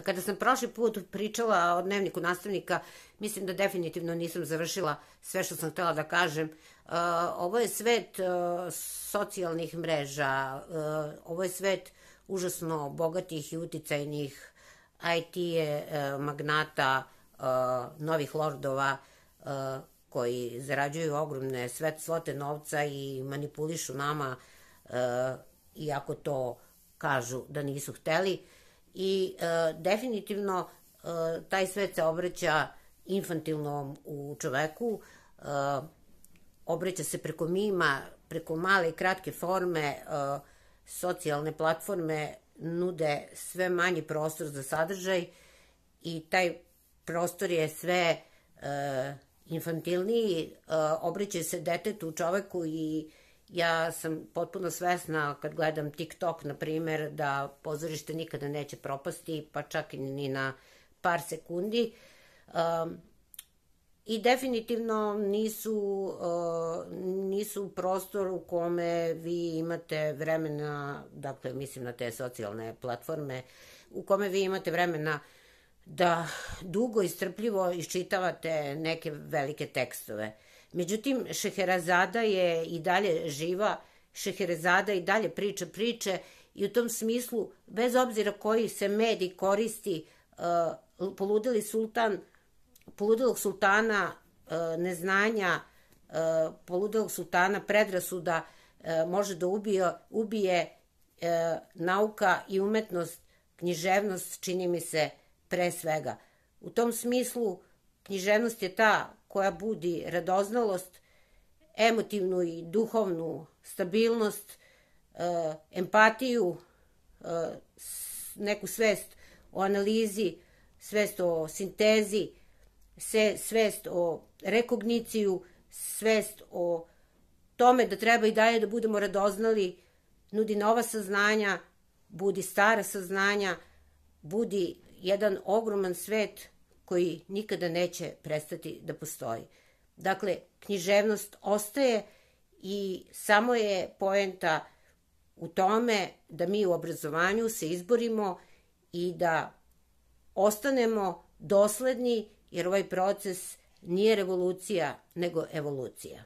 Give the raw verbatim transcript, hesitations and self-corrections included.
Kada sam prošli put pričala o dnevniku nastavnika, mislim da definitivno nisam završila sve što sam htela da kažem. Ovo je svet socijalnih mreža, ovo je svet užasno bogatih i uticajnih I T magnata, novih lordova koji zarađuju ogromne svote novca i manipulišu nama, iako to kažu da nisu hteli. I definitivno taj svet se obraća infantilnom u čoveku, obraća se preko mima, preko male i kratke forme, socijalne platforme nude sve manji prostor za sadržaj i taj prostor je sve infantilniji, obraća se detetu, čoveku i ja sam potpuno svesna kad gledam TikTok, na primer, da pozorište nikada neće propasti, pa čak ni na par sekundi. I definitivno nisu, nisu prostor u kome vi imate vremena, dakle mislim na te socijalne platforme, u kome vi imate vremena da dugo i strpljivo iščitavate neke velike tekstove. Međutim, Šeherezada je i dalje živa, Šeherezada i dalje priča priče i u tom smislu, bez obzira koji se medij koristi, poludeli sultan, poludelog sultana neznanja, poludelog sultana predrasuda može da ubije nauka i umetnost, književnost, čini mi se, pre svega. U tom smislu, književnost je ta koja budi radoznalost, emotivnu i duhovnu stabilnost, empatiju, neku svest o analizi, svest o sintezi, svest o rekogniciju, svest o tome da treba i dalje da budemo radoznali, nudi nova saznanja, budi stara saznanja, budi jedan ogroman svet koji nikada neće prestati da postoji. Dakle, književnost ostaje i samo je poenta u tome da mi u obrazovanju se izborimo i da ostanemo dosledni, jer ovaj proces nije revolucija, nego evolucija.